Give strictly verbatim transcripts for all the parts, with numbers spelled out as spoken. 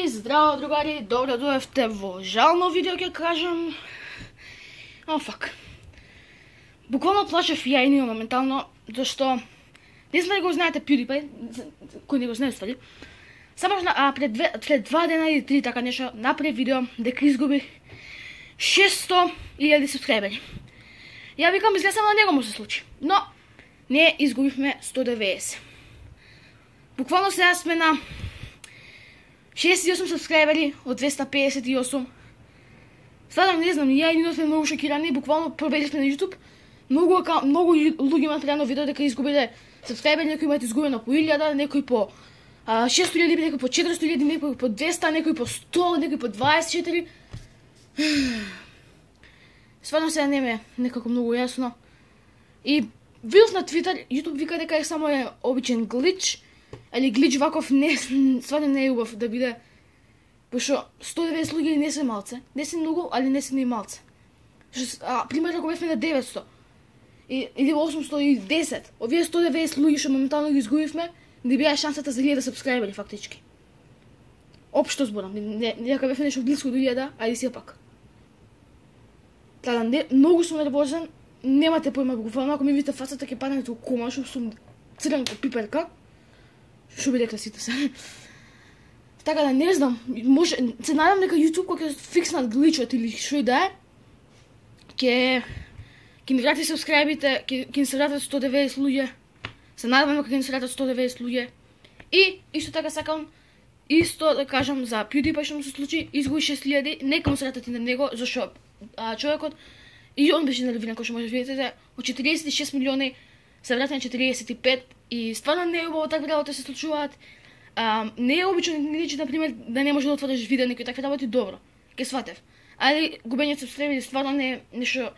здраво другари, добро дојавте во жално видео, ќе кажам. О, фак. Буквално плачев ја и ние моментално, зашто не знам да го знаете PewDiePie, кој не го знае ствари. Само а, пред, две, пред два дена или три така нешто направи видео дека изгуби шесто илјади субскрайбери. Ја викам, изгледа на него му се случи, но не изгубивме сто деветдесет. Буквално сега сме на шеесет и осум субскрайбери од двеста педесет и осум. Стварно не знам, ја и Нино сме многу шокирани, буквално пробелисме на YouTube. Многу, многу луѓе имаат реално видео дека изгубиле субскрайбери, некои имаат изгубено по илјада, некои по шесто илјади, некои по четиристо илјади, некои по двеста, некои по сто, некои по дваесет и четири. Стварно сега не ме некако многу јасно. И видов на Twitter, YouTube вика дека е само е обичен глич, али глич ваков не, стварно не е убав да биде, пошто сто деветдесет луѓе не се малце, не се многу, али не се ни малце. А, пример, ако бевме на деветсто, и, или осумсто и десет, овие сто деветдесет луѓе што моментално ги изгубивме, не беа шансата за илјада субскрайбери фактички. Општо зборам, не дека бевме нешто близко до илјада, ајде сепак. Тада, не, многу сум нервозен, немате појма, буквално ако ми видите фацата ќе паднете у кома, што сум црен ко пиперка. Што би рекла сите се. Така да не знам, може се надам дека YouTube кога ќе фикснат гличот или што и да е, ќе ќе ми врати субскрайбите, ќе ќе се вратат сто деветдесет луѓе. Се надам дека ќе ни се вратат сто деветдесет луѓе. И исто така сакам исто да кажам за PewDiePie што му се случи, изгуби шест илјади, нека му се вратат и на него, зашто а, човекот и он беше нервиран, кој што може да видите, од четириесет и шест милиони се врати на четириесет и пет и стварно не е убаво такви работи се случуваат. А, не е обично ничи, например, да не може да отвориш видео некои такви работи, добро, ке сватев. Али губењето субскрайбери стварно не е нешто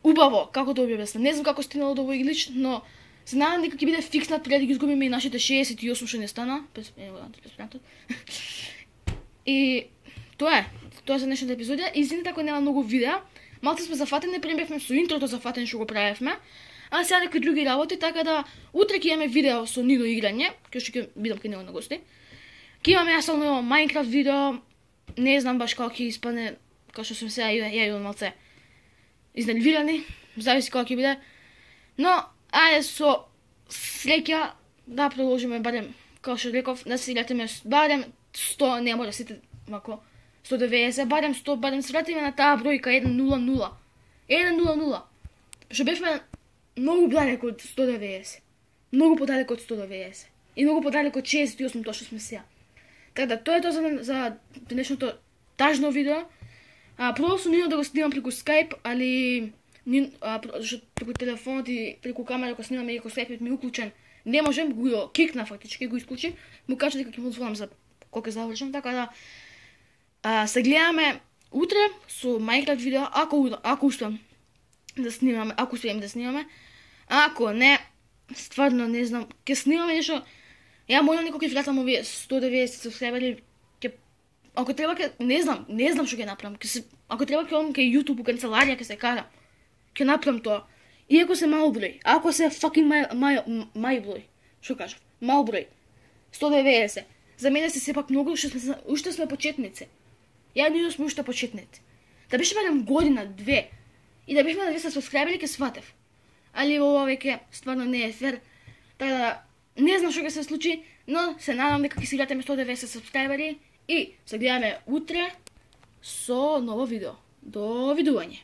убаво, како да објаснам. Не знам како стигнало до овој глич, но се надам дека ќе биде фикснат пред да ги изгубиме и нашите шеесет и осум што не стана. И тоа е, тоа е за днешната епизодија. Извините ако нема многу видеа, малку сме зафатени, прембевме со интрото зафатени што го правевме. А сега некои други работи, така да утре ќе имаме видео со Нидо играње, кој што ќе бидам кај него на гости. Ќе имаме јас само Minecraft видео, не знам баш како ќе испадне, како што сум сега ја ја малце изнервирани, зависи како ќе биде. Но ајде со среќа да продолжиме барем, како што реков, да се вратиме барем сто, не може сите мако сто деветдесет, барем сто, барем се вратиме на таа бројка еден нула нула. еден нула нула. Што бевме многу подалеку од сто деветдесет. Многу подалеку од сто деветдесет. И многу подалеку од шеесет и осум тоа што сме сега. Така да, тоа е тоа за, за денешното тажно видео. А, пробав сум Нино да го снимам преку Skype, али а, преку телефонот и преку камера ако снимаме и ако Skype ми уклучен, не можем, го кикна фактички, го исклучи, му кажа дека ќе му звонам за кога завршам, така да а, се гледаме утре со Minecraft видео, ако ако успеам да снимаме, ако успеем да снимаме. Ако не, стварно не знам, ќе снимаме нешто. Ја молам некој ќе вратам овие сто деветдесет субскрайбери, ќе ако треба ќе не знам, не знам што ќе направам. Ќе се ако треба ќе одам кај YouTube у канцеларија ќе се кара. Ќе направам тоа. Иако се мал број, ако се fucking мај мај мај број, што кажав? Мал број. сто деветдесет. За мене се сепак многу, уште сме уште сме почетници. Ја ние сме уште почетници. Да беше барем година, две. И да бевме на двеста субскрайбери ке сватев. Али ова веќе стварно не е фер. Така да не знам што ќе се случи, но се надам дека ќе си вратиме сто деветдесет субскрайбери и се гледаме утре со ново видео. До видување.